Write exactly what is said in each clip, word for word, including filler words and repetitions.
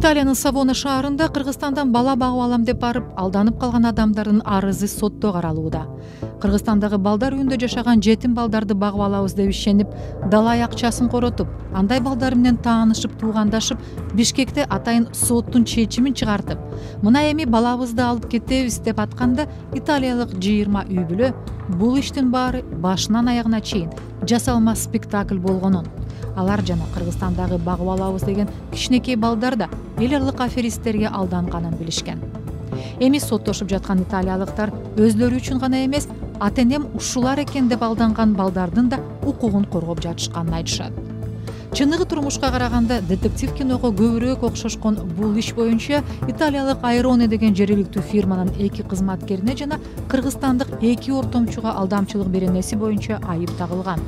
Италиянын Савона шаарында Кыргызстандан бала багып алам деп барып, алданып калган адамдардын арызы сотто каралууда. Кыргызстандагы балдар үйүндө жашаган жетим балдарды багып алабыз деп ишенип, далай акчасын коротуп, андай балдар менен таанышып, туугандашып, Бишкекте атайын соттун чечимин чыгартып, мына эми балабызды алып кетебиз деп атканда, италиялык жыйырма үй бүлө бул иштин баары башынан аягына чейин жасалма спектакль болгонун, алар жана Кыргызстандагы багып алабыз деген кичинекей балдар да эл аралык аферисттерге алданганын билишкен. Эми соттошуп жаткан италиялыктар өздөрү үчүн гана эмес, ата-энем ушулар экен деп алданган балдардын да укугун коргоп жатышканын айтышат. Чыныгы турмушка караганда детектив киного көбүрөөк окшошкон бул иш боюнча италиялык Айроне деген жергиликтүү фирманын эки кызматкерине жана кыргызстандык эки ортомчуга алдамчылык беренеси боюнча айып тагылган.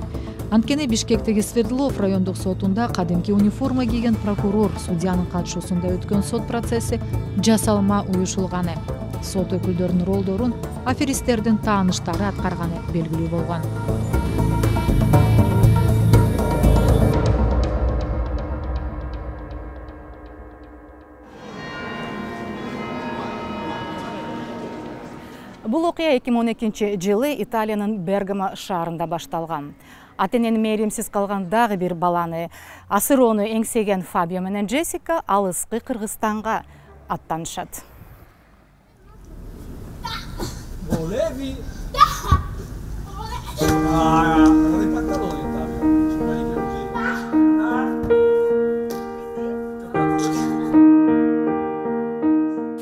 Анткени Бишкектеги Свердлов райондук сотунда кадимки униформа кийген прокурор судьянын катышуусунда өткөн сот процесси жасалма уюшулганы. Сот өкүлдөрүнүн ролдорун аферисттердин тааныштары аткарганы белгилүү болгон. Бул окуя эки миң он экинчи жылы Италиянын Бергамо шаарында башталган. Ата-энени мээримсиз калган дагы бир баланы, асыроону эңсеген Фабио менен Джессика алыскы Кыргызстанга аттанышат.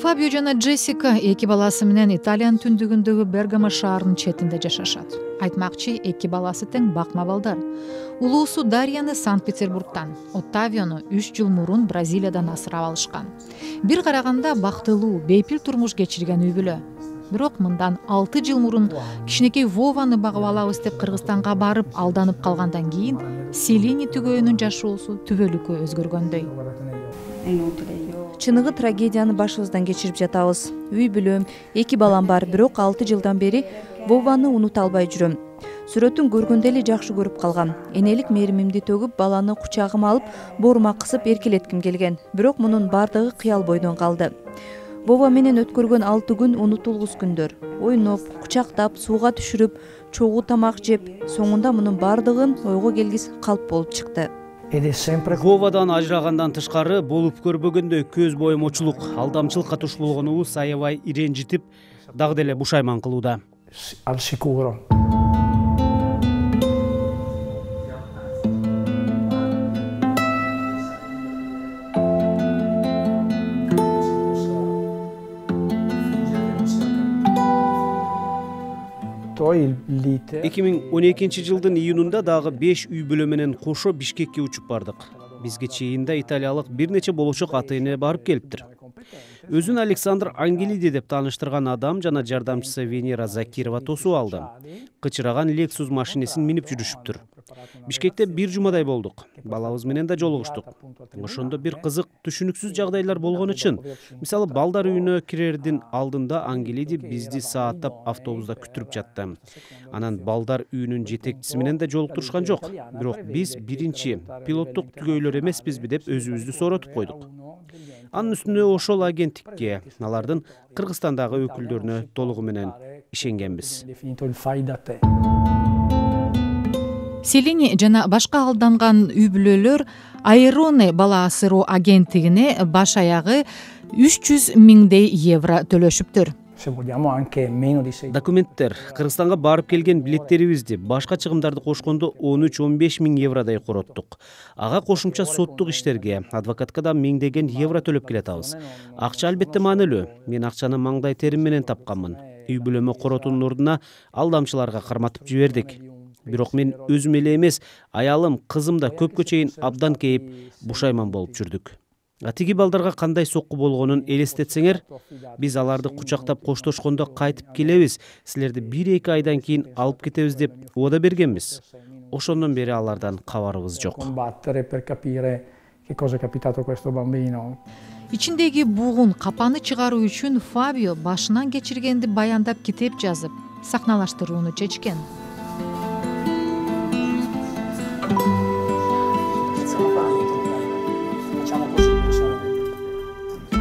Фабио жана Джессика эки баласы менен Италиянын түндүгүндөгү Бергамо шаарынын четинде жашашат. Айтмакчы, эки баласы тең бакма балдар. Улуусу Дарьяны Санкт-Петербургтан, Оттавиону үч жыл мурун Бразилиядан асырап алышкан. Бир караганда бактылуу, бейпил турмуш кечирген үй бүлө. Бирок мындан алты жыл мурун кичинекей Вованы багып алабыз деп Кыргызстанга барып алданып калгандан кийин Селини түгөйүнүн жашоосу түбөлүккө өзгөргөндөй. Чыныгы трагедияны башыбыздан кечирип жатабыз. Үй бүлөм, эки балам бар, бирок алты жылдан бери Вованы унута албай жүрөм. Сүрөтүн көргөндө эле жакшы көрүп калгам. Энелик мээримимди төгүп, баланы кучагыма алып, боорума кысып эркелетким келген. Бирок мунун бардыгы кыял бойдон калды. Вова менен өткөргөн алты күн унутулгус күндөр. Ойноп, кучактап, сууга түшүрүп, чогуу тамак жеп, соңунда мунун бардыгын ойго келгис калп болуп чыкты. Вовадан ажырагандан тышкары болуп көрбөгөндөй көз боемочулук, алдамчылыкка туш болгонубуз аябай иренжитип, дагы деле бушайман кылууда. эки миң он экинчи жылдын июнунда дагы беш үй бүлө менен кошо Бишкекке учуп бардык. Бизге чейинде италиялык бир нече болочок ата-эне барып келиптир. Өзүн Александр Ангелиди деп тааныштырган адам жана жардамчысы Венера Закирова тосуп алды. Кычыраган Lexus машинесин минип жүрүшүптүр. Бишкекте бир жумадай болдук. Балабыз менен да жолугуштук. Ошондо бир кызык, түшүнүксүз жагдайлар болгону үчүн. Мисалы, балдар үйүнө кирердин алдында Ангелиди бизди сааттап автобуста күтүрүп жатты. Анан балдар үйүнүн жетекчиси менен да жолуктурушкан жок. Бирок биз биринчи пилоттук түгөйлөр эмеспизби деп өзүбүздү сооротуп койдук. Анын үстүнө ошол агенттикке, алардын Кыргызстандагы өкүлдөрүнө толугу менен ишенгенбиз. Селини жана башка алданган үй бүлөлөр Айроне бала асыроо агенттигине баш аягы үч жүз миңдей евро төлөшүптүр. Документтер, Кыргызстанга барып келген билеттерибизди, башка чыгымдарды кошкондо он үч он беш миң евродай короттук. Ага кошумча соттук иштерге, адвокатка да миңдеген евро төлөп келатабыз. Акча албетте маанилүү. Мен акчаны маңдай терим менен тапканмын. Үй бүлөмө коротуунун ордуна алдамчыларга карматып жибердик. Бирок мен өзүм эле эмес, аялым, кызым да көпкө чейин абдан кейип, бушайман болуп жүрдүк. Атиги балдарга кандай сокку болгонун элестетсеңер, биз аларды кучактап коштошкондо кайтып келебиз, силерди бир эки айдан кийин алып кетебиз деп ода бергенбиз. Ошондон бери алардан кабарыбыз жок. Ичиндеги бугун, капаны чыгаруу үчүн Фабио башынан кечиргенди баяндап китеп жазып, сахналаштырууну чечкен.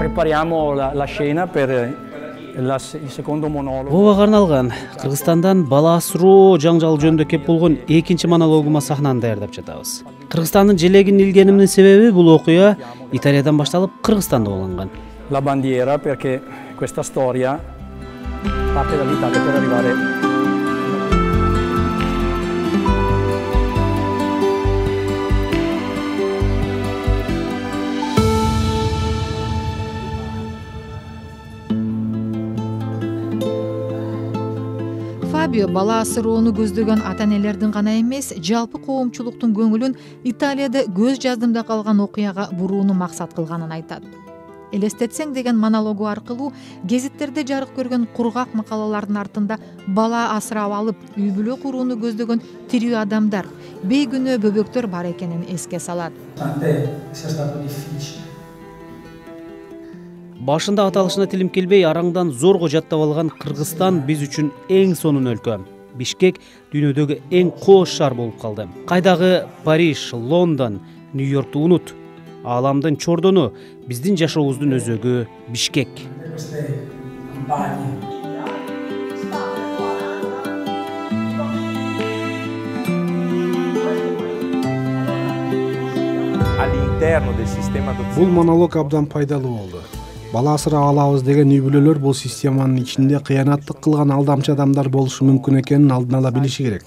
Prepariamo la, la scena per la, il secondo monologo. Вовага арналган Кыргызстандан бала асыроо жаңжал жөнүндө кеп болгон экинчи монологума сахнаны даярдап жатабыз. Кыргызстандын желегин илгенимдин себеби бул окуя Италиядан башталып Кыргызстанда болгон. La bandiera perché questa storia parte dall'Italia per arrivare. Фабио бала асыроону көздөгөн ата-энелердин гана эмес, жалпы коомчулуктун көңүлүн Италияда көз жаздымда калган окуяга бурууну максат кылганын айтат. Элестетсең деген монологу аркылуу гезиттерде жарык көргөн кургак макалалардын артында бала асырап алып, үй бүлө курууну көздөгөн тирүү адамдар, бейкүнөө бөбөктөр бар экенин эске салат. Башында аталышына тилим келбей, араңдан зорго жаттап алган Кыргызстан биз үчүн эң сонун өлкө. Бишкек дүйнөдөгү эң кооз шаар болуп калды. Кайдагы Париж, Лондон, Нью-Йоркту унут. Ааламдын чордону, биздин жашообуздун өзөгү Бишкек. Бул монолог абдан пайдалуу болду. Бала асырап алабыз деген үй бүлөлөр бул системанын ичинде кыянаттык кылган алдамчы адамдар болушу мүмкүн экенин алдын ала билиши керек.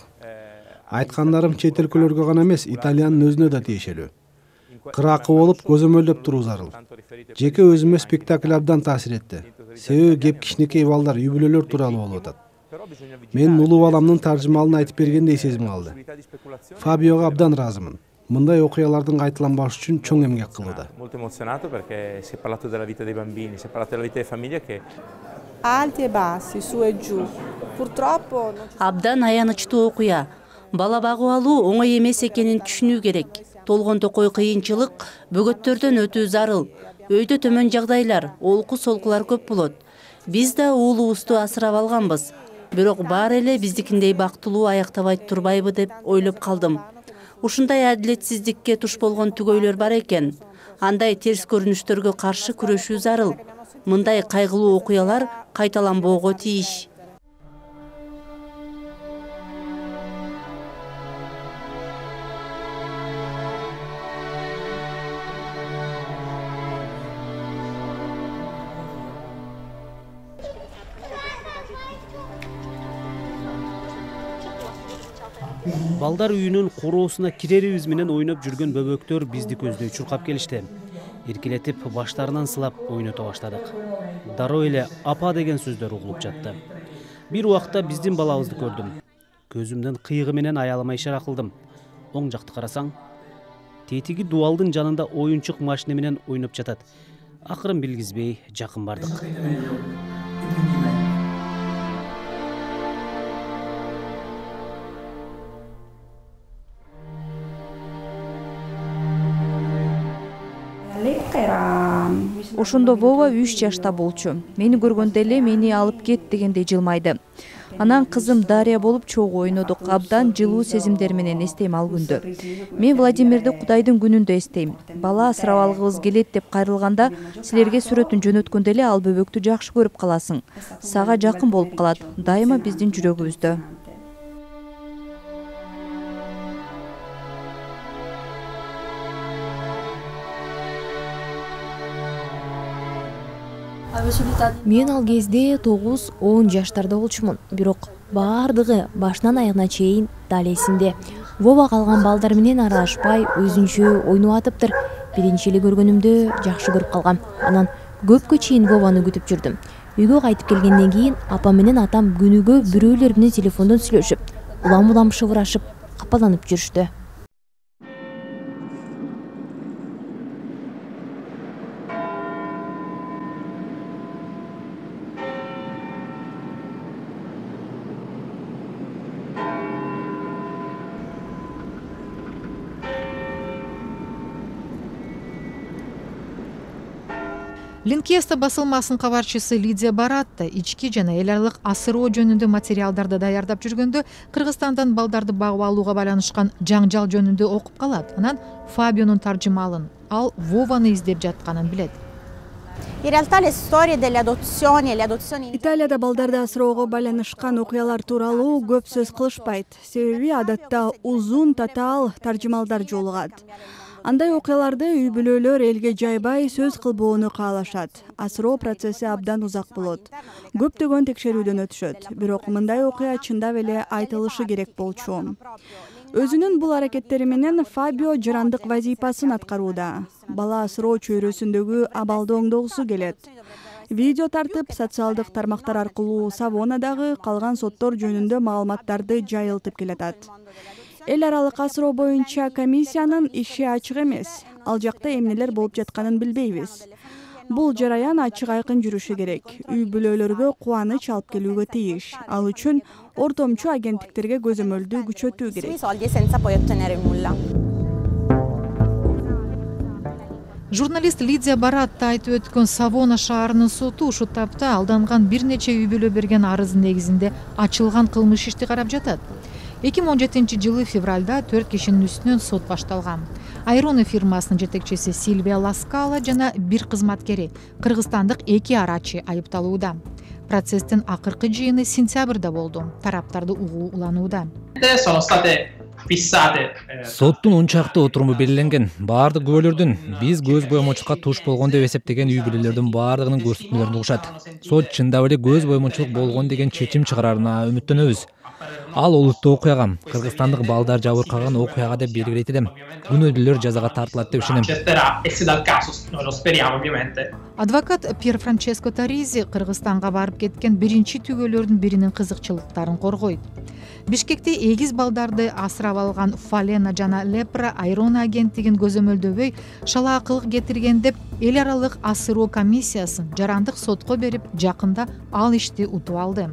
Айткандарым чет өлкөлөргө гана эмес, Италиянын өзүнө да тиешелүү. Кыракы болуп көзөмөлдөп туруу зарыл. Жеке өзүмө спектакль абдан таасир этти. Себеби кеп кичинекей балдар, үй бүлөлөр тууралуу болуп атат. Мен улуу баламдын таржымалын айтып бергендей сезим алды. Фабиого абдан ыраазымын. Мындай окуялардын кайталанбашы үчүн чоң эмгек кылууда. Molto emozionato perché si è parlato della vita dei bambini, si è parlato della vita delle famiglie che alti e bassi, su e giù. Purtroppo абдан аянычтуу окуя. Бала багып алуу оңой эмес экенин түшүнүү керек. Толгон токой кыйынчылык бөгөттөрдөн өтүү зарыл. Өйдө төмөн жагдайлар, олку солкулар көп болот. Биз да уулубузду асырап алганбыз. Бирок баары эле биздикиндей бактылуу аяктабай турбайбы деп ойлоп калдым. Ушундай адилетсиздикке туш болгон түгөйлөр бар экен. Андай терс көрүнүштөргө каршы күрөшүү зарыл. Мындай кайгылуу окуялар кайталанбоого тийиш. Балдар үйүнүн короосуна кирерибиз менен ойноп жүргөн бөбөктөр бизди көздөй чуркап келишти. Эркелетип баштарынан сылап ойното баштадык. Дароо эле апа деген сөздөр угулуп жатты. Бир убакта биздин балабызды көрдүм. Көзүмдүн кыйыгы менен аялыма ишара кылдым. Оң жакты карасаң, тетиги дубалдын жанында оюнчук машина менен ойноп жатат. Акырын билгизбей жакын бардык. Ошондо Вова үч жашта болчу. Мени көргөндө эле мени алып кет дегендей жылмайды. Анан кызым Дарья болуп чогуу ойнодук. Абдан жылуу сезимдер менен эстейм ал күндү. Мен Владимирди Кудайдын күнүндө эстейм. Бала асырап алгыбыз келет деп кайрылганда силерге сүрөтүн жөнөткөндө эле ал бөбөктү жакшы көрүп каласың. Сага жакын болуп калат. Дайыма биздин жүрөгүбүздө. Мен ал кезде тогуз он жаштарда болчумун. Бирок баардыгы башынан аягына чейин дал эсимде. Вова калган балдар менен аралашпай өзүнчө ойноп атыптыр. Биринчи эле көргөнүмдө жакшы көрүп калгам. Анан көпкө чейин Вованы күтүп жүрдүм. Үйгө кайтып келгенден кийин апам менен атам күнүгө бирөөлөр менен телефондон сүйлөшүп, улам-улам шыбырашып, капаланып жүрүштү. Линкеста басылмасынын кабарчысы Лидия Баратта ички жана эл аралык асыроо жөнүндө материалдарды даярдап жүргөндө Кыргызстандан балдарды багып алууга байланышкан жаңжал жөнүндө окуп калат. Анан Фабионун таржымалын, ал Вованы издеп жатканын билет. In realtà le storie delle adozioni e le adozioni Италияда балдарды асыроого байланышкан окуялар тууралуу көп сөз кылышпайт. Себеби адатта узун татаал таржымалдар жолугат. Андай окуяларды үй бүлөлөр элге жайбай сөз кылбоону каалашат. Асыроо процесси абдан узак болот. Көптөгөн текшерүүдөн өтүшөт. Бирок мындай окуя чындап эле айтылышы керек болчу. Өзүнүн бул аракеттери менен Фабио жырандык вазифасын аткарууда. Бала асыроо чөйрөсүндөгү абалды оңдогусу келет. Видео тартып, социалдык тармактар аркылуу Савонадагы калган соттор жөнүндө маалыматтарды жайылтып келатат. Эл аралык асыроо боюнча комиссиянын иши ачык эмес. Ал жакта эмнелер болуп жатканын билбейбиз. Бул жараян ачык айкын жүрүшү керек. Үй бүлөлөргө кубаныч алып келүүгө тийиш. Ал үчүн ортомчу агенттиктерге көзөмөлдү күчөтүү керек. Журналист Лидия Баратта айтып өткөн Савона шаарынын соту ушул тапта алданган бир нече үй бүлө берген арыз негизинде ачылган кылмыш ишти карап жатат. эки миң он жетинчи жылы февралда төрт кишинин үстүнөн сот башталган. Айроне фирмасынын жетекчиси Сильвия Ласкала жана бир кызматкери, кыргызстандык эки арачы айыпталууда. Процесстин акыркы жыйыны сентябрда болду. Тараптарды угууланууда. Соттун он чакты отуруму белгиленген. Баардык күбөлөрдүн биз көз боемочулукка туш болгон деп эсептеген үй бүлөлөрдүн баардыгынын көрсөтмөлөрүн угушат. Сот чындап эле көз боемочулук болгон деген чечим чыгарарына үмүттөнөбүз. Ал олуттуу окуяга, кыргызстандык балдар жабыркаган окуяга деп белгилейт элем. Күнөөдүүлөр жазага тартылат деп ишенем. Адвокат Пьер Франческо Таризи Кыргызстанга барып кеткен биринчи түгөлөрдүн биринин кызыкчылыктарын коргойт. Бишкекте эгиз балдарды асырап алган Фалена жана Лепра Айроне агенттигин көзөмөлдөбөй шалаакылык кетирген деп эл аралык асыроо комиссиясын жарандык сотко берип, жакында ал ишти утуп алды.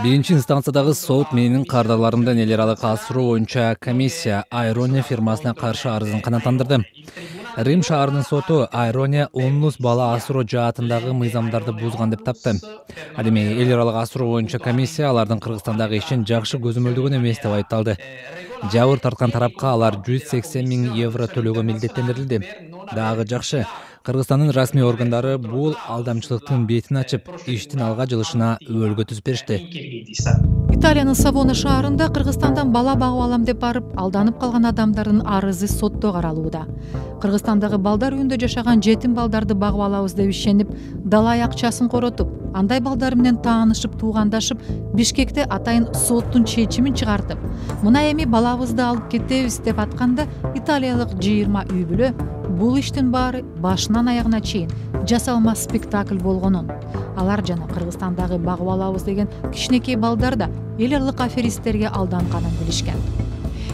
Биринчи инстанциядагы сот менин кардарларымдан эл аралык асыроо боюнча комиссия Айроне фирмасына каршы арызын канааттандырды. Рим шаарынын соту Айроне оннус бала асыроо жаатындагы мыйзамдарды бузган деп тапты. Ал эми эл аралык асыроо боюнча комиссия алардын Кыргызстандагы ишин жакшы көзөмөлдөгөн эмес деп айыпталды. Жабыр тарткан тарапка алар жүз сексен миң евро төлөөгө милдеттендирилди. Дагы жакшы, Кыргызстандын расмий органдары бул алдамчылыктын бетин ачып, иштин алга жылышына өбөлгө түзүп беришти. Италиянын Савона шаарында Кыргызстандан бала багып алам деп барып алданып калган адамдардын арызы сотто каралууда. Кыргызстандагы балдар үйүндө жашаган жетим балдарды багып алабыз деп ишенип, далай акчасын коротуп, андай балдар менен таанышып, туугандашып, Бишкекте атайын соттун чечимин чыгартып, мына эми балабызды алып кетебиз деп атканда италиялык жыйырма үй бүлө бул иштин баары башынан аягына чейин жасалма спектакль болгонун, алар жана Кыргызстандагы багып алабыз деген кичинекей балдар да эл аралык аферисттерге алданганын билишкен.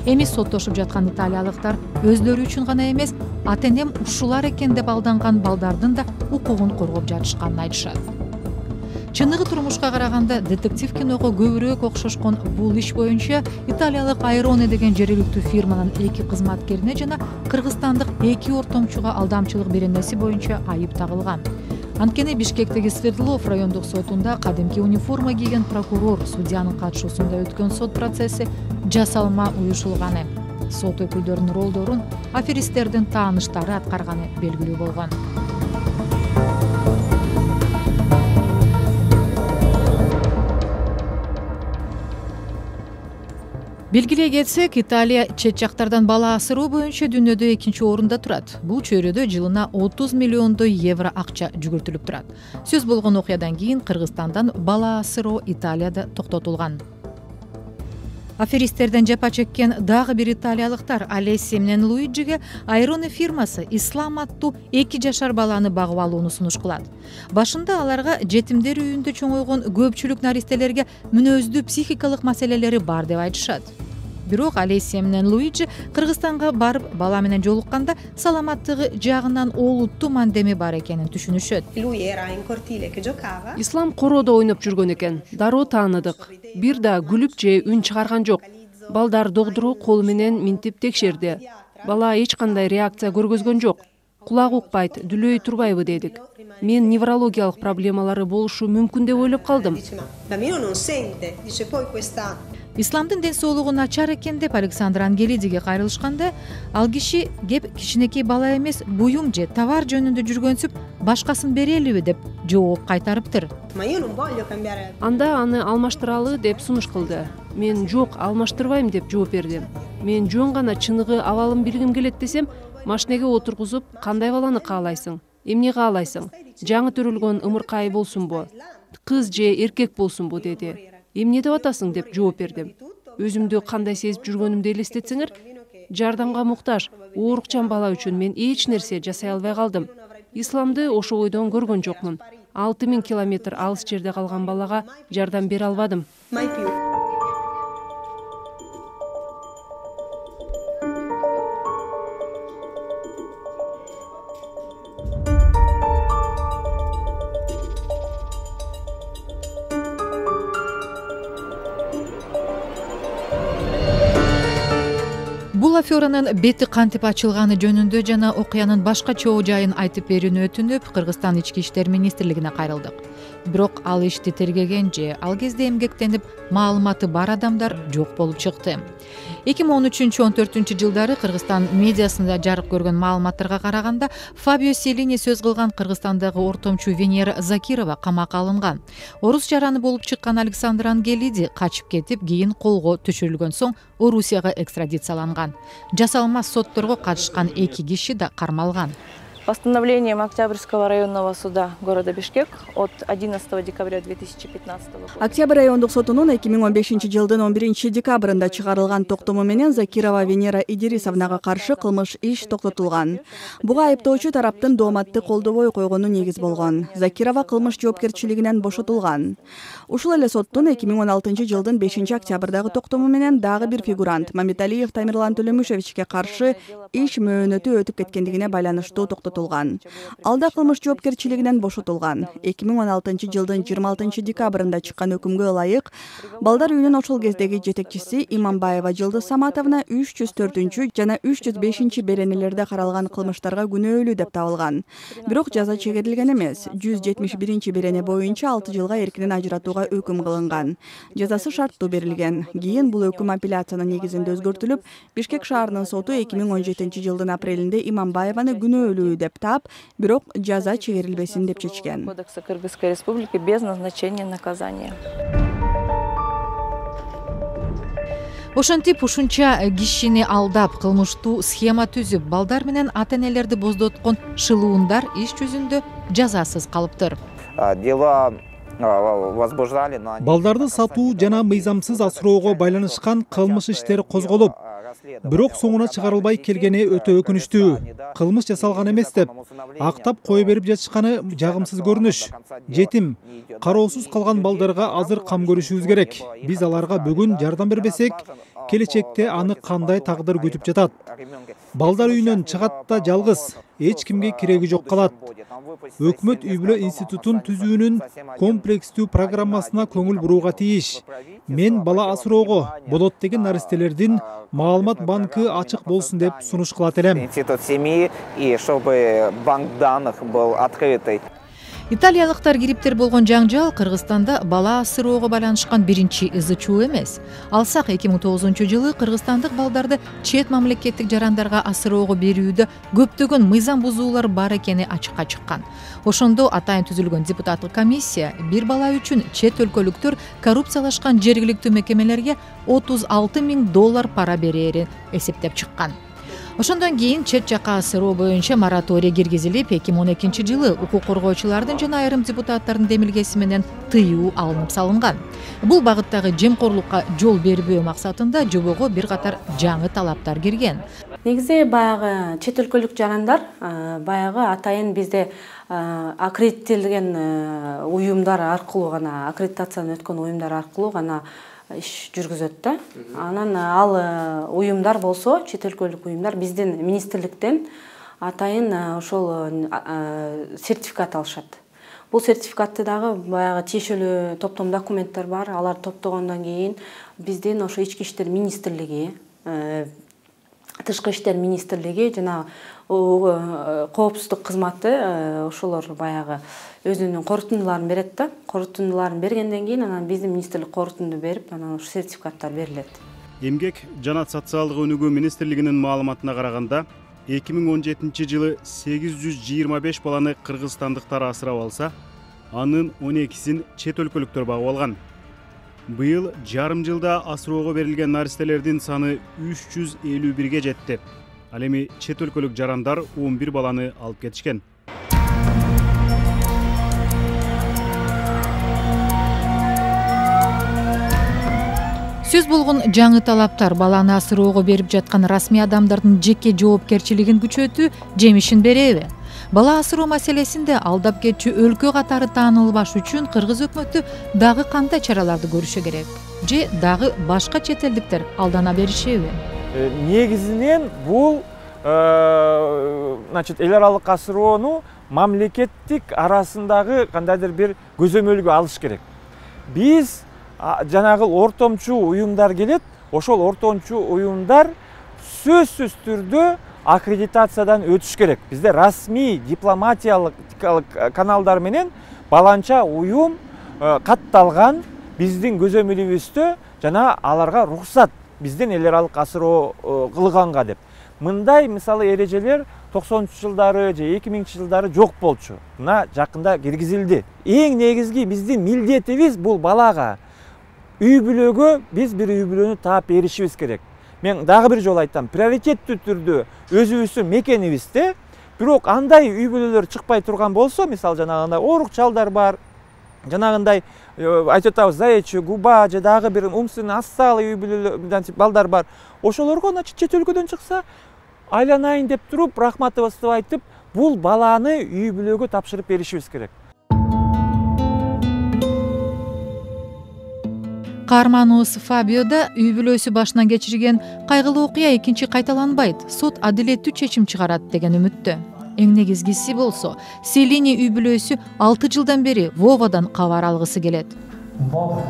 Эми соттошуп жаткан италиялыктар өздөрү үчүн гана эмес, ата-энем ушулар экен деп алданган балдардын да укугун коргоп жатышканын айтышат. Чыныгы турмушка караганда детектив киного көбүрөөк окшошкон бул иш боюнча италиялык Айроне деген жергиликтүү фирманын эки кызматкерине жана кыргызстандык эки ортомчуга алдамчылык беренеси боюнча айып тагылган. Анткени Бишкектеги Свердлов райондук сотунда кадимки униформа кийген прокурор судьянын катышуусунда өткөн сот процесси жасалма уюшулганы. Сот өкүлдөрүнүн ролдорун аферисттердин тааныштары аткарганы белгилүү болгон. Белгилей кетсек, Италия чет жактардан бала асыроо боюнча дүйнөдө экинчи орунда турат. Бул чөйрөдө жылына отуз миллиондой евро акча жүгүртүлүп турат. Сөз болгон окуядан кийин Кыргызстандан бала асыроо Италияда токтотулган. Аферисттерден жапа чеккен дагы бир италиялыктар Алессия менен Луиджиге Айроне фирмасы Ислам аттуу эки жашар баланы багып алууну сунуш кылат. Башында аларга жетимдер үйүндө чоңойгон көпчүлүк наристелерге мүнөздүү психикалык маселелери бар деп айтышат. Бирок Алессия менен Луиджи Кыргызстанга барып бала менен жолукканда саламаттыгы жагынан олуттуу мандеми бар экенин түшүнүшөт. Ислам короодо ойноп жүргөн экен. Дароо тааныдык. Бир да күлүп же үн чыгарган жок. Балдар доктору колу менен минтип текшерди. Бала эч кандай реакция көргөзгөн жок. Кулак укпайт, дүлөй турбайбы дедик. Мен неврологиялык проблемалары болушу мүмкүн деп ойлоп калдым. исламдын ден соолугу начар экен деп Александр Ангелидиге кайрылышканда, ал киши кеп кичинекей бала эмес, буюм же товар жөнүндө жүргөнсүп, башкасын берелиби деп жооп кайтарыптыр. Анда аны алмаштыралы деп сунуш кылды. Мен жок, алмаштырбайм деп жооп бердим. Мен жөн гана чыныгы абалын билгим келет десем, машинеге отургузуп, кандай баланы каалайсың? Эмне каалайсың? Жаңы төрөлгөн ымыркай болсунбу? Кыз же эркек болсунбу деди. Эмне деп атасың деп жооп бердим. Өзүмдү кандай сезип жүргөнүмдү элестетсеңер, жардамга муктаж, оорукчан бала үчүн мен эч нерсе жасай албай калдым. Исламды ошо бойдон көргөн жокмун. алты миң километр алыс жерде калган балага жардам бере албадым. Бул аферанын бети кантип ачылганы жөнүндө жана окуянын башка чоо жайын айтып берүүнү өтүнүп, Кыргызстан ички иштер министрлигине кайрылдык. Бирок ал ишти тергеген же ал кезде эмгектенип маалыматы бар адамдар жок болуп чыкты. эки миң он үчүнчү он төртүнчү жылдары Кыргызстан медиасында жарык көргөн маалыматтарга караганда, Фабио Селини сөз кылган Кыргызстандагы ортомчу Венера Закирова камакка алынган. Орус жараны болуп чыккан Александр Ангелиди качып кетип, кийин колго түшүрүлгөн соң Орусияга экстрадицияланган. Жасалма сотторго катышкан эки киши да кармалган. Постановлением Октябрьского районного суда города Бишкек от одиннадцатого декабря две тысячи пятнадцатого года. Октябрь райондук сотунун эки миң он бешинчи жылдын он биринчи декабрында чыгарылган токтому менен Закирова Венера Идирисовнага каршы кылмыш иш токтотулган. Буга айыптоочу тараптын дооматты колдобой койгону негиз болгон. Закирова кылмыш жоопкерчилигинен бошотулган. Ушул эле соттун эки миң он алтынчы жылдын бешинчи октябрдагы токтому менен дагы бир фигурант Мамиталиев Тамирлан Төлөмүшевичке каршы иш мөөнөтү өтүп кеткендигине байланыштуу токтотулган. Алда кылмыш жоопкерчилигинен бошотулган. эки миң он алтынчы жылдын жыйырма алтынчы декабрында чыккан өкүмгө ылайык, балдар үйүнүн ошол кездеги жетекчиси Иманбаева Жылдыз Саматовна үч жүз төртүнчү жана үч жүз бешинчи беренелерде каралган кылмыштарга күнөөлүү деп табылган. Бирок жаза чегерилген эмес. жүз жетимиш биринчи берене боюнча алты жылга эркинен ажыратууга өкүм кылынган. Жазасы шарттуу берилген. Кийин бул өкүм апелляциянын негизинде өзгөртүлүп, Бишкек шаарынын соту эки миң он жетинчи жылдын апрелинде Иманбаеваны күнөөлүү деп таап, бирок жаза чегерилбесин деп чечкен. Кодекса Кыргызской Республики без назначения наказания. Ошентип ушунча кишини алдап, кылмыштуу схема түзүп, балдар менен ата-энелерди боздоткон шылуундар иш жүзүндө жазасыз калыптыр. Балдарды сатуу жана мыйзамсыз асыроого байланышкан кылмыш иштери козголуп, бирок соңуна чыгарылбай келгени өтө өкүнүчтүү. Кылмыш жасалган эмес деп актап кое берип жатышканы жагымсыз көрүнүш. Жетим, кароосуз калган балдарга азыр кам көрүшүбүз керек. Биз аларга бүгүн жардам бербесек, келечекте аны кандай тагдыр күтүп жатат. Балдар үйүнөн чыгат да жалгыз, эч кимге кереги жок калат. Өкмөт үй бүлө институтун түзүүнүн комплекстүү программасына көңүл бурууга тийиш. Мен бала асыроого болот деген наристелердин маалымат банкы ачык болсун деп сунуш кылат элем. Институт семьи, и чтобы банк данных был открытый. Италиялыктар кириптер болгон жаңжал Кыргызстанда бала асыроого байланышкан биринчи ызы чуу эмес. Алсак эки миң тогузунчу жылы кыргызстандык балдарды чет мамлекеттик жарандарга асыроого берүүдө көптөгөн мыйзам бузуулар бар экени ачыкка чыккан. Ошондо атайын түзүлгөн депутаттык комиссия бир бала үчүн чет өлкөлүктөр коррупциялашкан жергиликтүү мекемелерге отуз алты миң доллар пара берээрин эсептеп чыккан. Ошондон кийин чет жакка асыроо боюнча мораторий киргизилип, эки миң он экинчи жылы укук коргоочулардын жана айрым депутаттардын демилгеси менен тыюу алынып салынган. Бул багыттагы жемкорлукка жол бербөө максатында жобого бир катар жаңы талаптар кирген. Негизи баягы чет өлкөлүк жарандар баягы атайын бизде аккредиттелген уюмдар аркылуу гана, аккредитациядан өткөн уюмдар аркылуу гана иш жүргүзөт да. Анан ал уюмдар болсо, чет өлкөлүк уюмдар биздин министрликтен атайын ошол сертификат алышат. Бул сертификатты дагы баягы тиешелүү топтом документтер бар. Алар топтогондон кийин биздин ошо ички иштер министрлиги тышкы иштер министрлиги жана коопсуздук кызматы ошолор баягы өзүнүн корутундуларын берет да. Корутундуларын бергенден кийин анан биздин министрлик корутунду берип, анан ушу сертификаттар берилет. Эмгек жана социалдык өнүгүү министрлигинин маалыматына караганда, эки миң он жетинчи жылы сегиз жүз жыйырма беш баланы кыргызстандыктар асырап алса, анын он экисин чет өлкөлүктөр багып алган. Быйыл жарым жылда асыроого берилген наристелердин саны үч жүз элүү бирге жетти. Ал эми чет өлкөлүк жарандар он бир баланы алып кетишкен. Сөз болгон жаңы талаптар баланы асыроого берип жаткан расмий адамдардын жеке жоопкерчилигин күчөтүү жемишин береби? Бала асыроо маселесинде алдап кетчү өлкө катары таанылбаш үчүн кыргыз өкмөтү дагы кандай чараларды көрүшү керек? Же дагы башка чет элдиктер алдана беришеби? Негизинен бул значит эл аралык асыроону мамлекеттик арасындагы кандайдыр бир көзөмөлгө алыш керек. Биз жанагы ортомчу уюмдар келет, ошол ортомчу уюмдар сөзсүз түрдө аккредитациядан өтүш керек. Бизде расмий дипломатиялык каналдар менен баланча уюм катталган биздин көзөмөлүбүздө жана аларга уруксат бизден эл аралык асыроо кылганга деп. Мындай мисалы эрежелер токсонунчу жылдары же эки миңинчи жылдары жок болчу. Мына жакында киргизилди. Эң негизги биздин милдетибиз бул балага үй бүлөгө биз бир үй бүлөнү таап беришибиз керек. Мен дагы бир жолу айтам, приоритеттүү түрдө өзүбүздүн мекенибизде, бирок андай үй бүлөлөр чыкпай турган болсо, мисалы жанагындай оорукчалдар бар, жанагындай айтып атабыз заячий губа же дагы бир умственно отсталый үй бүлөлөр балдар бар. Ошолорго значит чет өлкөдөн чыкса, айланайын деп туруп, рахматыбызды айтып, бул баланы үй бүлөгө тапшырып беришибиз керек. Каарманыбыз Фабио да үй бүлөсү башынан кечирген кайгылуу окуя экинчи кайталанбайт, сот адилеттүү чечим чыгарат деген үмүттө. Эң негизгиси болсо, Селини үй бүлөсү алты жылдан бери Вовадан кабар алгысы келет. Vova,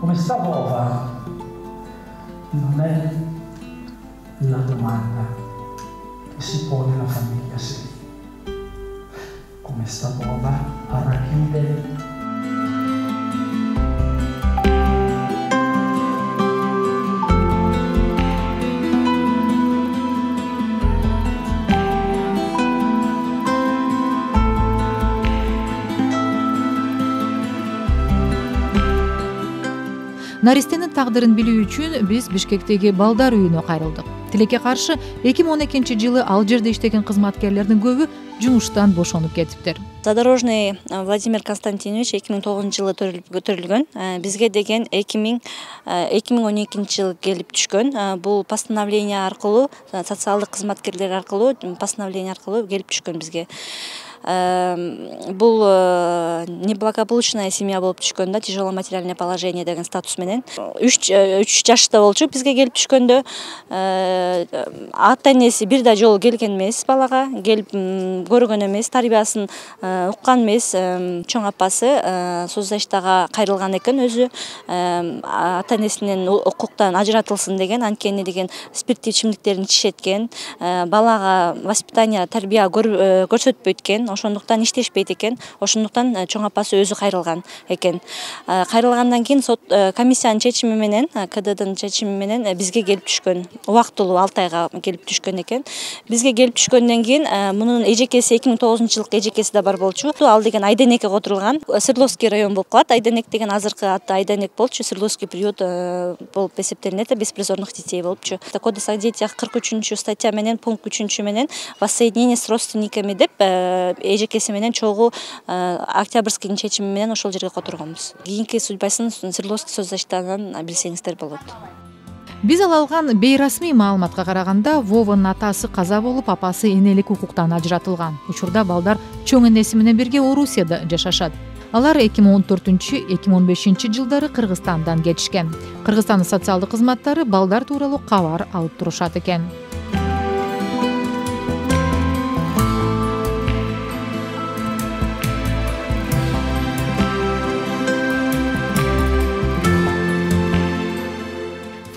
come sta Vova? Non è la domanda che si pone la famiglia Selini. Come sta Vova a racchiudere Наристенин тагдырын билүү үчүн биз Бишкектеги балдар үйүнө кайрылдык. Тилекке каршы эки миң он экинчи жылы ал жерде иштеген кызматкерлердин көбү жумуштан бошонуп кетиптир. Задорожный Владимир Константинович эки миң тогузунчу жылы төрөлгөн. Бизге деген эки миң он экинчи жылы келип түшкөн. Бул постановление аркылуу, социалдык кызматкерлер аркылуу, постановление аркылуу келип түшкөн бизге. Бул неблагополучная семья болуп түшкөн да, тяжелое материальное положение деген статус менен. үч жашта болчу бизге келип түшкөндө. Ата энеси бир да жолу келген эмес балага, келип көргөн эмес, тарбиясын уккан эмес. Чоң апасы соцзащитага кайрылган экен өзү. Ата энесинин укуктан ажыратылсын деген, анткени деген спирттүү ичимдиктерин ичишеткен. Балага воспитание, тарбия көрсөтпөйт экен. Ошондуктан иштешпейт экен. Ошондуктан чоң апасы өзү кайрылган экен. Кайрылгандан кийин сот комиссиянын чечими менен, КДдын чечими менен бизге келип түшкөн. Убактылуу алты айга келип түшкөн экен. Бизге келип түшкөндөн кийин мунун эжекеси эки миң тогузунчу жылкы эжекеси да бар болчу. Ал деген Айденекке которулган. Свердловский район болуп калат. Айденек деген азыркы аты Айденек болчу. Свердловский приют болуп эсептелинет, беспризорных детей болупчу. Кодекс о детях кырк үчүнчү статья менен, пункт үчүнчү менен воссоединение с родственниками деп эжекеси менен чогуу Октябрьскийдин чечими менен ошол жерге которгонбуз. Кийинки судьбасын Свердловский соцзащитадан билсеңиздер болот. Биз ала алган бейрасмий маалыматка караганда, Вованын атасы каза болуп, апасы энелик укуктан ажыратылган. Учурда балдар чоң энеси менен бирге Орусияда жашашат. Алар эки миң он төртүнчү — эки миң он бешинчи жылдары Кыргызстандан кетишкен. Кыргызстандын социалдык кызматтары балдар тууралуу кабар алып турушат экен.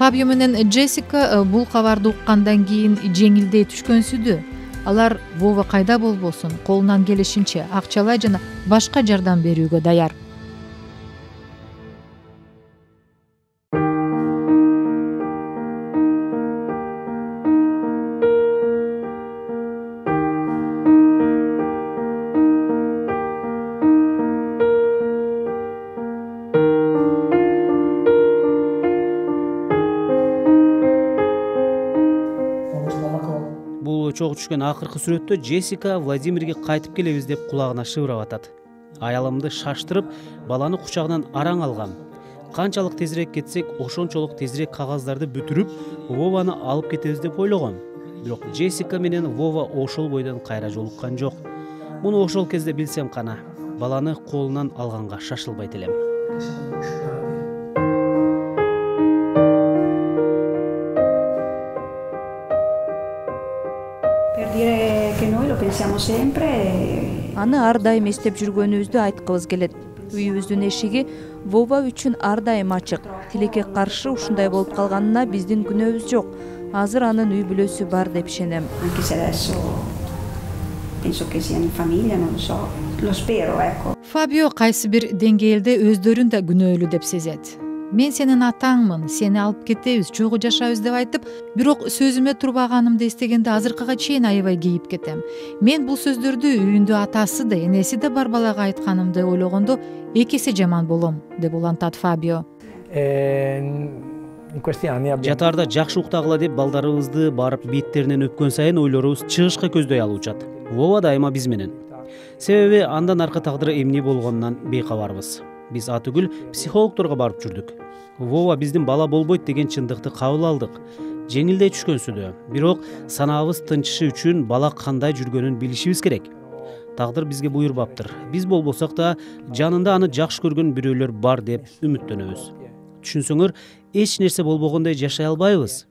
Фабио менен Джессика бул кабарды уккандан кийин жеңилдей түшкөнсүдү. Алар Вова кайда болбосун колунан келишинче акчалай жана башка жардам берүүгө даяр. Чогуу түшкөн акыркы сүрөттө Джессика Владимирге кайтып келебиз деп кулагына шыбырап атат. Аялымды шаштырып, баланы кучагынан араң алгам. Канчалык тезирээк кетсек, ошончолук тезирээк кагаздарды бүтүрүп, Вованы алып кетебиз деп ойлогом. Бирок Джессика менен Вова ошол бойдон кайра жолуккан жок. Муну ошол кезде билсем кана, баланы колунан алганга шашылбайт элем. Аны ар дайым эстеп жүргөнүбүздү айткыбыз келет. Үйүбүздүн эшиги Вова үчүн ар дайым ачык. Тилекке каршы ушундай болуп калганына биздин күнөөбүз жок. Азыр анын үй бүлөсү бар деп ишенем. Фабио кайсы бир деңгээлде өздөрүн да күнөөлүү деп сезет. Мен сенин атаңмын, сени алып кетебиз, чогуу жашайбыз деп айтып, бирок сөзүмө турбаганымды эстегенде азыркыга чейин аябай кейип кетем. Мен бул сөздөрдү үйүндө атасы да, энеси да бар балага айтканымды ойлогондо эки эсе жаман болом, деп улантат Фабио. Жатаарда жакшы уктагыла деп балдарыбызды барып беттеринен өпкөн сайын ойлорубуз чыгышка көздөй алуучат. Вова дайыма биз менен. Себеби андан аркы тагдыры эмне болгонунан бейкабарбыз. Биз атүгүл психологторго барып жүрдүк. Вова биздин бала болбойт деген чындыкты кабыл алдык. Жеңилдей түшкөнсүдө, бирок санаабыз тынчышы үчүн бала кандай жүргөнүн билишибиз керек. Тагдыр бизге буйрбаптыр. Биз болбосок да жанында аны жакшы көргөн бирөөлөр бар деп үмүттөнөбүз. Түшүнсөңөр, эч нерсе болбогондой жашай албайбыз.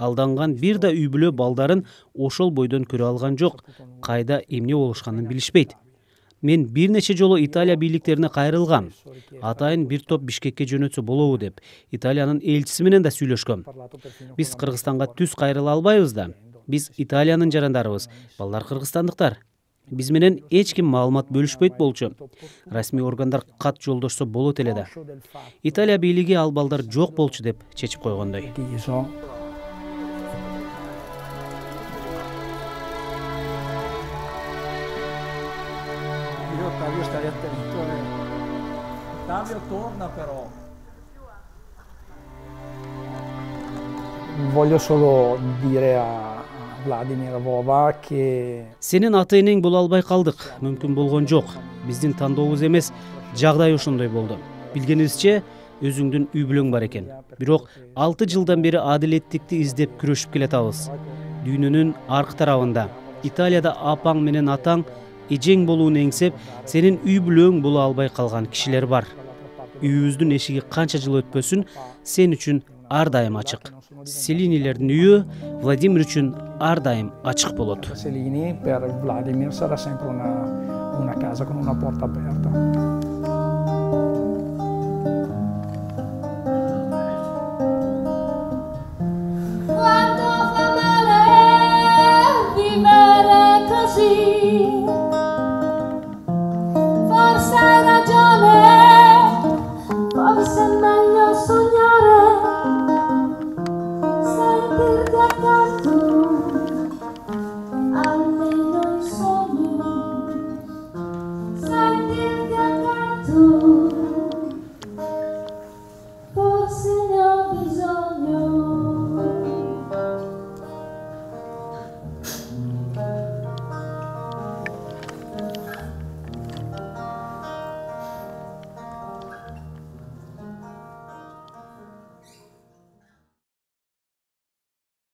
Алданган бир да үй бүлө балдарын ошол бойдон көрө алган жок. Кайда эмне болушканын билишпейт. Мен бир нече жолу Италия бийликтерине кайрылгам. Атайын бир топ Бишкекке жөнөтсө болобу деп Италиянын элчиси менен да сүйлөшкөм. Биз Кыргызстанга түз кайрыла албайбыз да. Биз Италиянын жарандарыбыз, балдар кыргызстандыктар. Биз менен эч ким маалымат бөлүшпөйт болчу. Расмий органдар кат жолдошсо болот эле да. Италия бийлиги ал балдар жок болчу деп чечип койгондой. Ottavio torna però. Voglio solo dire a Vladimir Vova che Сенин ата-энең боло албай калдык. Мүмкүн болгон жок. Биздин тандообуз эмес, жагдай ошондой болду. Билгенибизче, өзүңдүн үй бүлөң бар экен. Бирок алты жылдан бери адилеттикти издеп күрөшүп келатабыз. Дүйнөнүн аркы тарабында Италияда апаң менен атаң эжең болууну эңсеп, сенин үй бүлөң боло албай калган кишилер бар. Үйүбүздүн эшиги канча жыл өтпөсүн, сен үчүн ар дайым ачык. Селинилердин үйү Владимир үчүн ар дайым ачык болот. Selini per Vladimir sarà sempre una una casa con una porta aperta.